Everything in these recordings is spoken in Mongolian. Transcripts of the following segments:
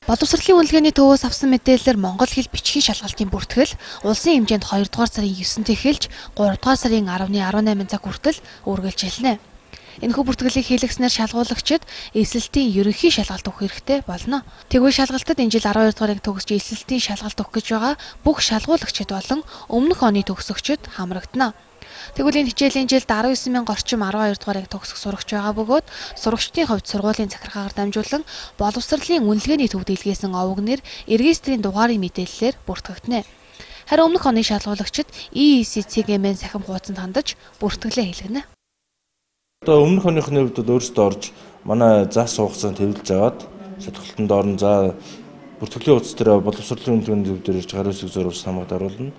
Боловсролын үнэлгээний төвөөс авсан мэдээлэлээр Монгол хэл бичгийн шалгалтын бүртгэл улсын хэмжээнд 2 дугаар сарын 9-нд эхэлж 3 дугаар сарын 10-18 цаг хүртэл үргэлжилнэ. Энэхүү бүртгэлийг хийлгэснээр шалгуулагчид эсэлтийн ерөнхий шалгалт өгөх хэрэгтэй болно. Тэгвэл шалгалтад энэ жил 12 дугаарыг төгсөж эсэлтийн шалгалт өгөх гэж байгаа бүх шалгуулагчид болон өмнөх оны төгсөгчид хамрагдана. Тэгвэл энэ хичээлийн жилд 19,000 орчим 12 дугаарыг төгсөх сурагч байгаа бөгөөд сурагчдын хувьд сургуулийн захиргаагаар дамжуулан боловсролын үнэлгээний төвд илгээсэн овогнэр регистрийн дугаарын мэдээллээр бүртгэгдэнэ. Харин өмнөх оны шалгуулагчид EEC-CGM-ийн сахим хуудасанд хандаж бүртгэлээ хийлгэнэ. Одоо өмнөх оныхны хувьд өөрсдөө орж манай зас суугцаанд хэвлэж аваад шалгалтанд орон за бүртгэлийн утас дээр боловсролын үнэлгээний төв дээр ирж гар үсэг зурвас хамгаалт оруулна.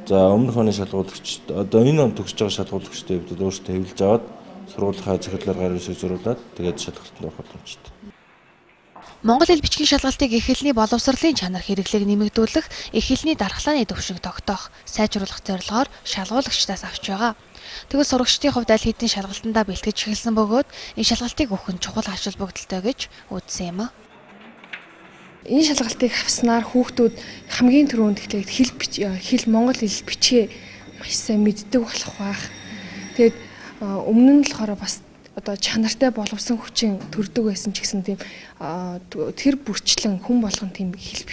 За өмнөх оны шалгуулагчид одоо энэ он төгсөж байгаа шалгуулагчдын хувьд өөрсдөө хэвлэж аваад сургуулийн захирлаар гар үсэг зурвуулад тэгээд шалгалтанд орох боломжтой. Монгол хэл бичгийн шалгалтыг их хэлний боловсролын чанар хэрэглээг нэмэгдүүлэх, их хэлний дархлааны төвшинг тогтоох, сайжруулах зорилгоор шалгуулагчдаас авч байгаа. Тэгвэл сурагчдын хувьд аль хэдийн шалгалтандаа бэлтгэж эхэлсэн бөгөөд энэ шалгалтыг өгөх нь чухал ач холбогдолтой гэж үзсэн юм а. Энэ шалгалтыг авснаар хүүхдүүд хамгийн түрүүнд хэл монгол хэл бичгээ маш сайн мэддэг болох байх. Тэгээд өмнө нь болохоор бас одоо чанартай боловсон хүчин төрдөг байсан ч гэсэн тийм тэр бүрчлэн хүн болгон тийм хэл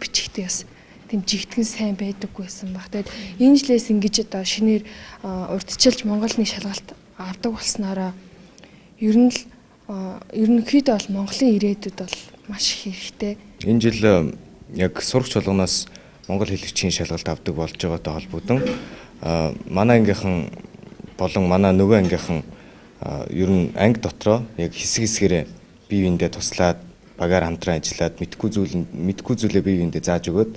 бичихтэй бас тийм жигтгэн сайн байдаггүй байсан баг. Тэгээд энэ жилээс ингэж одоо шинээр урдчилж Монголны шалгалт авдаг болсноороо ерөнхийдөө бол Монголын ирээдүйд бол маш их хэрэгтэй. Энэ жил яг сурагч болгоноос монгол хэл бичгийн шалгалт авдаг болж байгаатай холбогдсон манай ангийнхан болон манай нөгөө ангийнхан ер нь анги дотроо яг хэсэг хэсгээрээ бие биендээ туслаад багаар хамтран ажиллаад мэдхгүй зүйлээ бие биендээ зааж өгөөд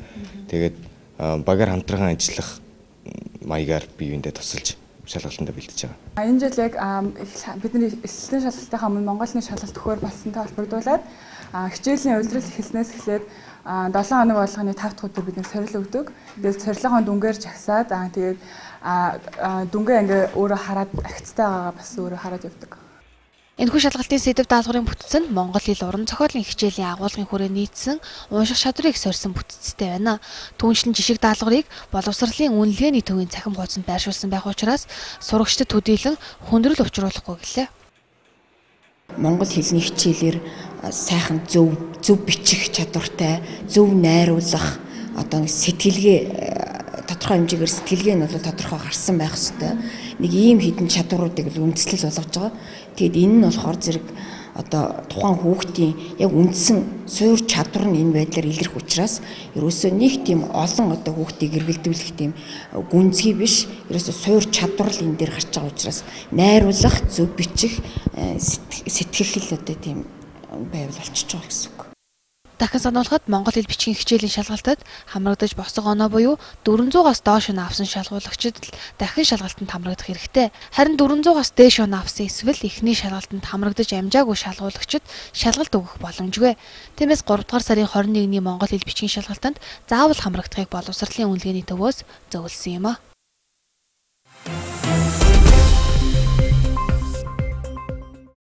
тэгээд багаар хамтран ажиллах маягаар бие биендээ тусалж шалгалтанд бэлдэж байгаа. Энэ жил яг бидний эсэлтийн шалгалтынхаа өмнө Монголын шалгалт өгөхөөр болсонтой холбогдуулаад хичээлийн улирал эхэлснээс эхлээд 7 хоног болгоны 5 дахь өдөр бид нэг сорил өгдөг. Тэгээд сорилгын дүнгээр жагсаад тэгээд дүнгээ ингээ өөрөө хараад агцтай байгаагаа бас өөрөө хараад явдаг. Энэхүү шалгалтын сэдэв даалгаврын бүтцэнд Монгол хэл уран зохиолын хичээлийн агуулгын хүрээ нийцсэн унших чадварыг сорьсон бүтцтэй байна. Түүнчлэн жишг даалгаврыг боловсролын үнэлгээний төвийн цахим хуудсанд байршуулсан байх учраас сурагчдад төдийлөн хүндрэл учруулахгүй гэлээ. Монгол хэлний хичээлээр сайхан зөв бичих чадвартай, зөв найруулах, одоо сэтгэлгээ тодорхой хэмжээгээр сэтгэлгээ нь бол тодорхой гарсан байх ёстой. Нэг ийм хідэн чадваруудыг үндэслэл болгож байгаа. Тэгэд энэ нь болохоор зэрэг одоо тухайн хүүхдийн яг үндсэн суур чадвар нь энэ байдлаар илэрх учраас ерөөсөө нэг тийм олон одоо хүүхдийг эргэлдүүлэх тийм гүнзгий биш, ерөөсөө суур чадвар л энэ дээр гарч байгаа учраас найруулах, зөв бичих, сэтгэл одоо тийм байвал болчихж байгаа гэсэн үг. Дахин сануулахад Монгол хэл бичгийн хичээлийн шалгалтад хамрагдаж босго оноо буюу 400-аас доош оноо авсан шалгуулагчид дахин шалгалтанд хамрагдах хэрэгтэй. Харин 400-аас дээш оноо авсан эсвэл эхний шалгалтанд хамрагдаж амжаагүй шалгуулагчид шалгалт өгөх боломжгүй. Тиймээс 3 дугаар сарын 21-ний Монгол хэл бичгийн шалгалтанд заавал хамрагдахыг боловсролын үнэлгээний төвөөс зөвлөсөн юм а.